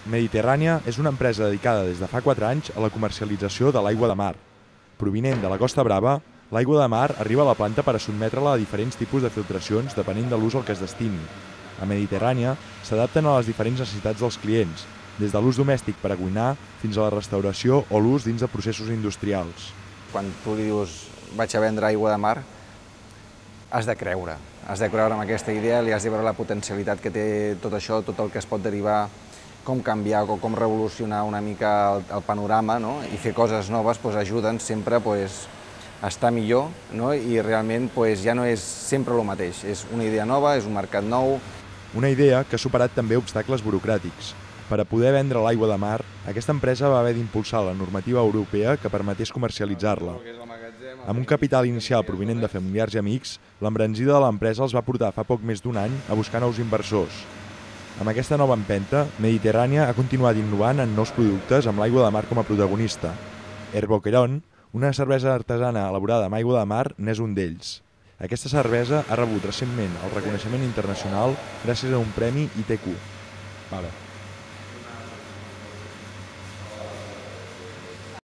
Mediterrània és una empresa dedicada des de fa 4 anys a la comercialització de l'aigua de mar. Provinent de la Costa Brava, l'aigua de mar arriba a la planta per a sotmetre-la a diferents tipus de filtracions depenent de l'ús al que es destini. A Mediterrània s'adapten a les diferents necessitats dels clients, des de l'ús domèstic per a cuinar fins a la restauració o l'ús dins de processos industrials. Quan tu li dius vaig a vendre aigua de mar, has de creure en aquesta idea, li has de veure la potencialitat que té tot això, tot el que es pot derivar, com canviar o com revolucionar una mica el panorama, no? I fer coses noves ajuden sempre a estar millor, no? I realment ja no és sempre el mateix, és una idea nova, és un mercat nou. Una idea que ha superat també obstacles burocràtics. Per a poder vendre l'aigua de mar, aquesta empresa va haver d'impulsar la normativa europea que permetés comercialitzar-la. Amb un capital inicial provinent de familiars i amics, l'embranzida de l'empresa els va portar fa poc més d'1 any a buscar nous inversors. Amb aquesta nova empenta, Mediterrània ha continuat innovant en nous productes amb l'aigua de mar com a protagonista. Herboquerón, una cervesa artesana elaborada amb aigua de mar, n'és un d'ells. Aquesta cervesa ha rebut recentment el reconeixement internacional gràcies a un premi ITQ.